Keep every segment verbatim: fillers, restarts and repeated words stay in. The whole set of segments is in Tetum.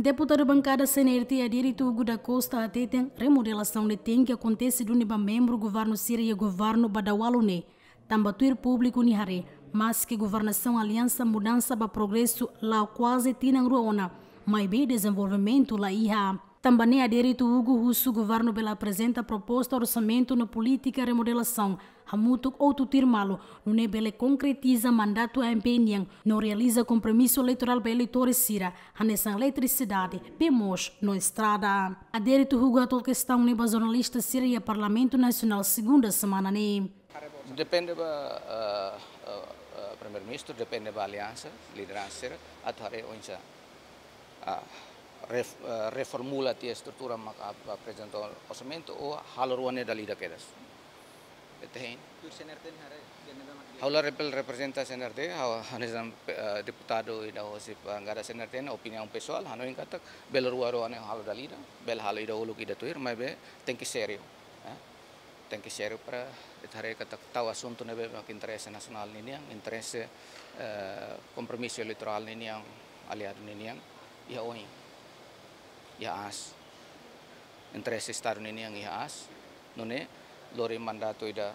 Deputadu bankada C N R T Adérito Hugo da Costa hateten remodelasaun ne'e tenke akontese duni ba membru governu sira iha governu ba daudaun ne'e, tanba tuir públiku nia haree, maske governasaun Aliansa Mudansa ba Progresu la'o kuaze tinan rua ona, maibé dezenvolvimentu la iha. Tanba ne'e Adérito Hugo husu governu bele aprezenta proposta orsamentu no polítika remodelasaun hamutuk ho tuir malu, nune'e bele konkretiza mandatu A M P nian, no realiza kompromisu eleitorál ba eleitór sira, hanesan eletrisidade, bee moos no estrada. Adérito Hugo hato'o kestaun ne'e ba jornalista sira iha Parlamentu Nasionál segunda semana ne'e. Depende ba, eh, eh, eh, Primeiru-Ministru, depende ba aliansa, lideransa sira, atu haree oinsá, ah, ref-, eh, reformula tiha estrutura mak ap-, aprezenta orsamentu ou halo rua ne'e dala ida kedas. Ita hein. Tuir C N R T ne'e haree, C N R T mak dia. Ha'u la repel reprezenta C N R T, ha'u hanesan, eh, deputadu ida hosi bankada C N R T ne'e, opiniaun pesoál, hanoin katak bele rua rua ne'e halo dala ida, bele halo ida uluk ida tuir, maibé tenke sériu, eh. Tenke sériu para ita haree katak tau asuntu ne'ebé mak interese nasionál ninian, interese, eh, kompromisu eleitorál ninian, aliadu ninian, iha oin, iha aas. Interese Estadu ninian iha aas, nune'e lori mandatu ida,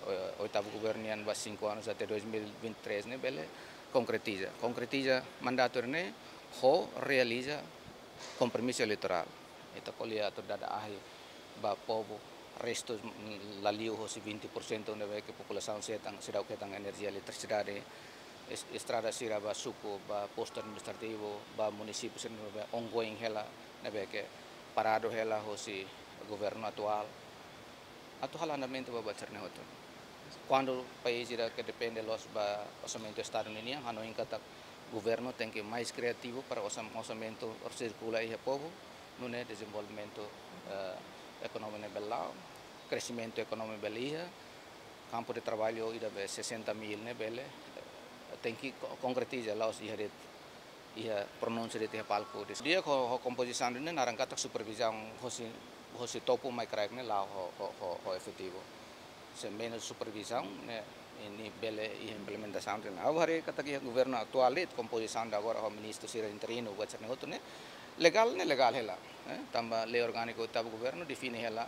eh, oitavu governu nian ba cinco anos até dois mil e vinte e três ne'e bele konkretiza. Konkretiza mandatu ne'e ho realiza kompromisu eleitorál. Ita ko'alia atu dada ahi ba povu, restu, mm, la liu hosi vinte por cento ne'ebé ke populasaun sira hetan, seidauk hetan enerjia eletrisidade, es-, estrada sira ba suku, ba postu administrativu, ba munisípiu sira ne'ebé ongoing hela, ne'ebé ke paradu hela hosi governu atuál. Atu halo andamentu ba buat sira-ne'e hotu. Kuandu país ida ke depende loos ba orsamentu Estadu ninian, hanoin katak governu tenke mais kriativu para orsam-, orsamentu sirkula iha povu, nune'e dezenvolvimentu, eh, ekonomia ne'e bele la'o, kresimentu ekonomia bele iha, kampu de traballu ida be sessenta mil ne'e bele, eh, tenke ko-, konkretiza la'ós iha de'it, iha pronúnsia de'it iha palku. Di'ak ho, ho kompozisaun ne'e naran katak supervizaun hosi, hosi topu mai kraik ne'e la'o ho, ho, ho, ho efetivu. Se menus supervizaun ne'e, ne'e bele iha implementasaun ne'e. Ha'u haree katak iha governu atuál de'it, kompozisaun de agora ho ministru sira interinu, buat sira-ne'e hotu ne'e legál, ne'e legál hela, eh? Tanba lei orgániku oitavu governu define hela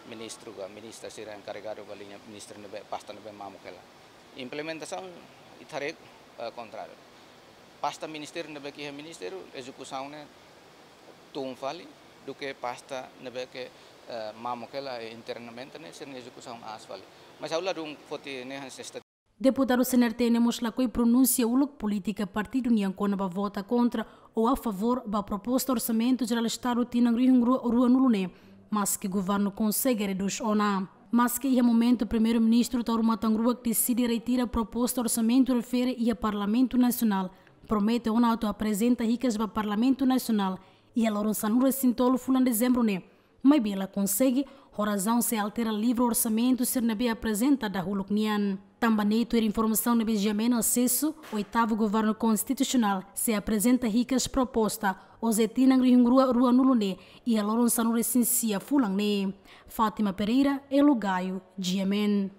ministru ka ministra sira enkarregadu ba liña ministru ne'ebé, pasta ne'ebé mamuk hela. Implementasaun ita haree, eh, kontráriu. Pasta ministériu ne'ebé ke iha ministériu, ezekusaun ne'e tun fali, duké pasta ne'ebé ke, eh, mamuk hela internamente ne'e, sira-nia ezekusaun aas fali. Mas ha'u ladún foti ne'e hanesan esta- Deputadu C N R T ne'e mós lakohi pronunsia uluk polítika partidu nian kona-ba vota kontra ou a favór ba proposta orsamentu jerál Estadu tinan rihun rua ruanulu ne'e, maske governu konsege redús ona. Maske iha momentu Primeiru-Ministru Taur Matan Ruak deside retira proposta orsamentu refere iha Parlamentu Nasionál, promete ona atu aprezenta hikas ba Parlamentu Nasionál iha loron sanulu-resin-tolu fulan Dezembru ne'e, maibé la konsege, ho razaun sei altera livru orsamentu sira ne'ebé aprezenta dahuluk nian. Tanba ne'e tuir informasaun ne'ebé GMN asesu, oitavu governu konstitusionál sei aprezenta hikas proposta hosi tinan rihun rua ruanulu ne'e iha loron sanulu-resin-sia fulan ne'e. Fátima Pereira, Elo Gaio, GMN.